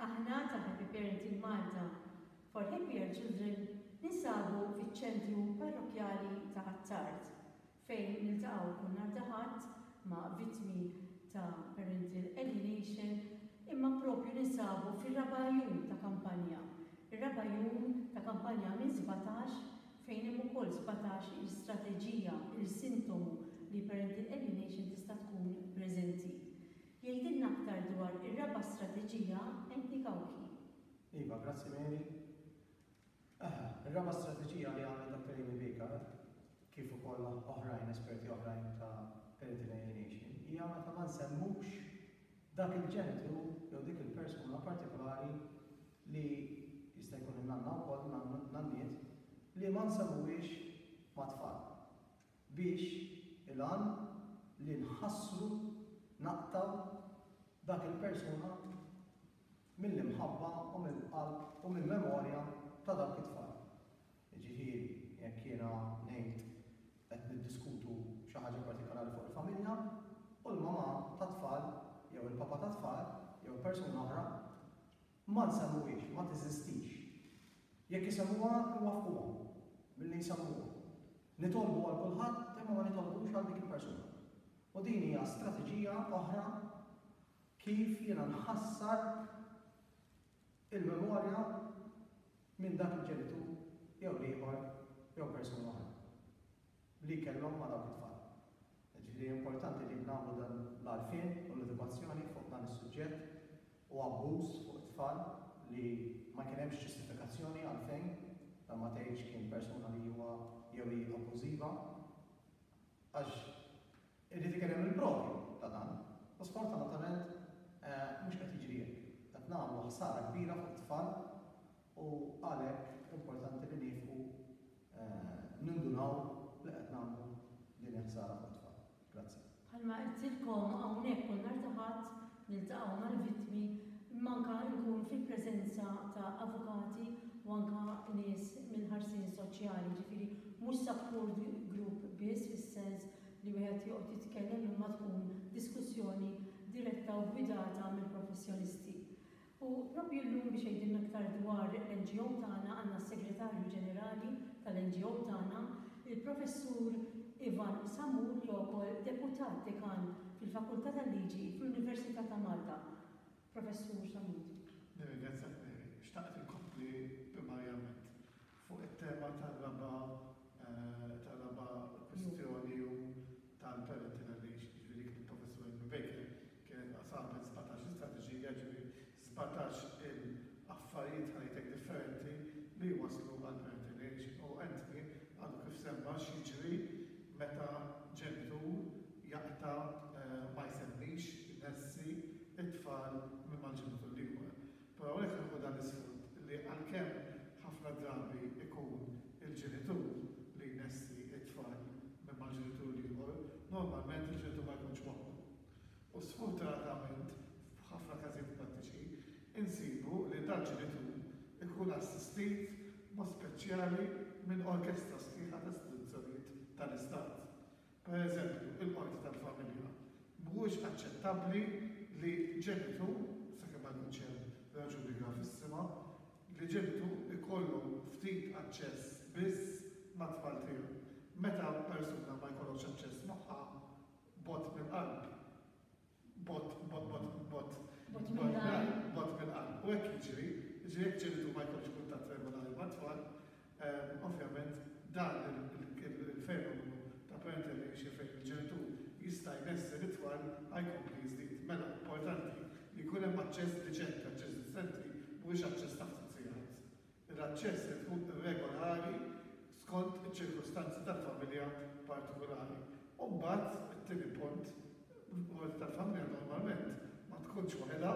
Aħna ta' Happy Parenting Malta for Happier Children ninsabu fiċ-Ċentru Parrokkjali ta' Ħ'Attard fejn niltaqgħu kull nhar ta' Ħadd ma' vittmi ta' parental alienation imma propju ninsabu fir-raba' jum ta' kampanja. Ir-raba' jum ta' kampanja minn 17 fejn hemm ukoll 17 il-strateġija, il-sintomu li parental alienation tista' tkun preżenti. Jgħidilna aktar dwar ir-raba' strateġija Anthony Cauchi. Iva, grazzi Mary. Eħe, ir-raba' strateġija li għamlet Dr. Amy Baker, kif ukoll oħrajn, esperti oħrajn ta' parental alienation, hija meta ma nsemmux dak il-ġenitur jew dik il-persuna partikolari li jista' jkun in-nanna wkoll, nanniet, li ma nsemmuhiex mat-tfal. Biex il-għan li nħassru, naqtgħu dak il-persuna mill-imħabba u mill-qalb u mill-memorja ta' dawk it-tfal. Jiġifieri, jekk jiena ngħid qed niddiskutu xi ħaġa partikolari fuq il-familja u l-mamà tat-tfal jew il-papà tat-tfal jew persuna oħra ma nsemmuhiex, ma teżistix. Jekk isemmuha, nwaffquhom milli jsemmuha. Nitolbu għal kulħadd imma ma nitolbux għal dik il-persuna. U din hija strateġija oħra kif jiena nħassar il-memorja minn dak il-ġenitur jew l-ieħor jew persuna oħra li kellhom ma' dawk it-tfal. Jiġifieri importanti li nagħmlu dan l-għarfien u l-edukazzjoni fuq dan is-suġġett u abbuż fuq it-tfal li ma kien hemmx ġustifikazzjoni għalfejn dan ma tgħidx kien persuna li huwa jew hi abbużiva għax irid ikun hemm il-provi ta' dan u sfortunatament mhux qed jiġri hekk. Qed nagħmlu ħsara kbira fuq it-tfal u għalhekk importanti li niefqu nindunaw li qed nagħmlu din il-ħsara fuq it-tfal. Grazzi. Bħalma għedtilkom hawnhekk kull nhar ta' Ħadd niltaqgħu mal-vittmi imma anke nkun fil-preżenza ta' avukati u anke nies mill-ħarsien soċjali, jiġifieri mhux support group biss fis-sens li wieħed joqgħod jitkellem imma tkun diskussjoni diretta u ggwidata mill-professjonisti. U proprju llum biex jgħidilna aktar dwar l-NGO tagħna għandna s-Segretarju Ġenerali tal-NGO tagħna, il-Professur Ivan Samul li huwa wkoll Deputat Dekan fil-Fakultà tal-Liġi fl-Università ta' Malta. Professur Samut. Nirringrazzjak Mary. Xtaqt inkompli primarjament fuq it-tema tar-raba' tar-raba' kwistjoni u tal-parental alienation, jiġifieri dik li l-Professur Amy Baker kienet sabet 17 il-strateġija, jiġifieri 17 il-affarijiet ħa ngħid hekk differenti li jwasslu għal parental alienation. U Anthony għadu kif semma x'jiġri meta ġenitur jaqta' ma jsemmix, inessi t-tfal minn mal-ġenitur l-ieħor. Però hawnhekk nieħu dan l-isfond li għalkemm ħafna drabi jkun il-ġenitur li jnessi t-tfal minn mal-ġenitur l-ieħor, normalment il-ġenitur ma jkunx waħdu. U sfortunatament f'ħafna każijiet prattiċi insibu li dal-ġenitur ikun assistit b'mod speċjali minn orkestra sħiħa ta' istituzzjonijiet tal-Istat. Per eżempju, il-qorti tal-familja. Mhuwiex aċċettabbli li ġenitur, sakemm ma jkunx hemm raġuni gravissima, li ġenitur ikollu ftit aċċess biss mat-tfal tiegħu. Meta persuna ma jkollokx aċċess magħha, bogħod mill-qalb. Bogħod, bogħod, bogħod, bogħod. Bogħod mill-qalb. Bogħod mill-qalb. U hekk jiġri, jiġri jekk ġenitur ma jkollux kuntatt regolari mat-tfal, ovvjament dan il-fenomenu ta' parental alienation fejn il-ġenitur jista' jnessi lit-tfal ħa jkompli jiżdied. Mela, importanti li jkun hemm aċċess diċenti, aċċess diċenti mhuwiex aċċess ta' ftit sigħat. L-aċċess irid ikun regolari skont iċ-ċirkustanzi tal-familja partikulari. U mbagħad, it-tieni punt, il-qorti tal-familja normalment ma tkunx waħedha,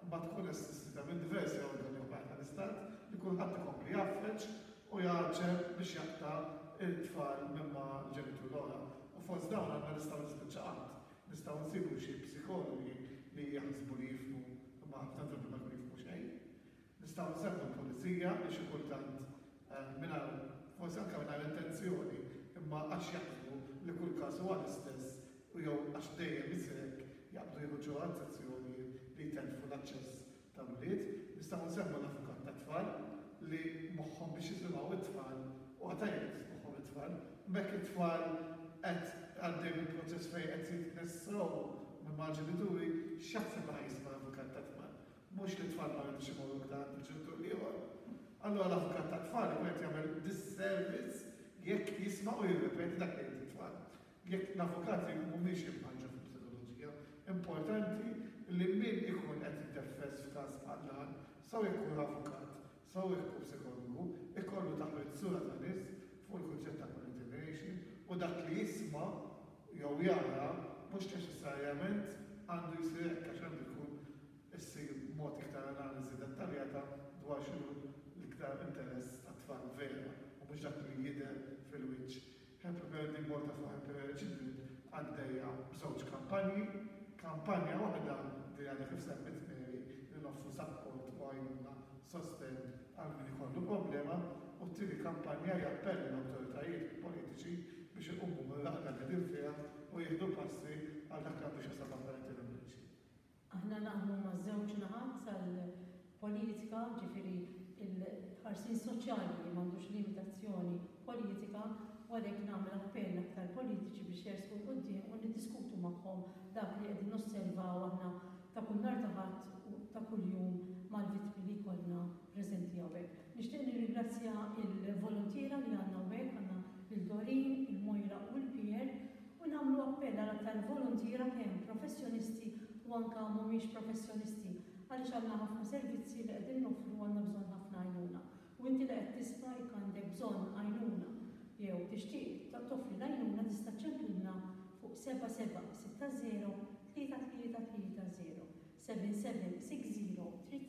imma tkun assistita minn diversi organi oħrajn tal-Istat li kulħadd ikompli jgħaffeġ u jgħaġġel biex jaqta' t-tfal minn ma' l-ġenitur l-oħra. U fost dawn għandna nistgħu nispiċċa qatt. Nistgħu nsibu xi psikologi li jaħsbu li jifhmu imma ħafna drabi ma jkunu jifhmu xejn. Nistgħu nsemmu l-pulizija li xi kultant mingħajr forsi anke mingħajr intenzjoni imma għax jaħsbu li kull każ huwa l-istess u jew għax dejjem isir hekk jaqbdu jieħu ġeneralizzazzjoni li jtellfu l-aċċess tal-ulied. Nistgħu nsemmu l-avukat tat-tfal li moħħhom biex jisimgħu t-tfal u tajjeb li tismagħhom it-tfal. M'hekk it-tfal qed għaddej minn proċess fejn qed jitnessew minn mal-ġenituri, x'jaħseb li ħa jisma' l-avukat tat-tfal? Mhux li t-tfal ma jridux imorru iktar għand il-ġenitur l-ieħor. Allura l-avukat tat-tfal ikun qed jagħmel disservice jekk jisma' u jirrepeti dak li jgħid it-tfal. Jekk l-avukati mhumiex imħarrġa fil-psikoloġija, importanti li min ikun qed jiddeffes f'każ bħal dan, sew jekk hu avukat, sew jekk hu psikologu, ikollu taħriġ sura ta' nies fuq il-kunċett ta' parental alienation u dak li jisma' jew jara mhux neċessarjament għandu jsir hekk għax għandu jkun issir b'mod iktar analiżi dettaljata dwar x'inhu l-iktar interess tat-tfal vera u mhux dak li jidher fil-wiċċ. Happy Parenting Malta for Happy Parent Children għaddejja b'żewġ kampanji. Kampanja waħda li għadha kif semmiet Mary li noffru sapport u għajnuna, sostenn għal min ikollu problema u t-tieni kampanja hija appell lill-awtoritajiet politiċi biex iqumu mir-raqda li qegħdin fiha u jieħdu passi għal dak li għandu x'jaqsam ma' parental alienation. Aħna naħdmu maż-żewġ naħat tal-politika, ġifieri l-ħarsien soċjali li m'għandux limitazzjoni politika u għalhekk nagħmel appell aktar politiċi biex jersqu 'l quddiem u niddiskutu magħhom dak li qegħdin nosservaw aħna ta' kull nhar ta' Ħadd u ta' kuljum mal-vittmi li jkollna preżenti hawnhekk. Nixtieq nirringrazzja l-voluntiera li għandna hawnhekk, għandna lil Doreen, il-Moira u l-Pierre, U nagħmlu appell għal aktar voluntiera kemm professjonisti u anke mhumiex professjonisti għaliex għandna ħafna servizzi li qegħdin noffru u għandna bżonn ħafna għajnuna. U inti li qed tisma' jekk għandek bżonn għajnuna jew tixtieq toffri l-għajnuna tista' ċċemplilna fuq 7760 3330, 7760 3330.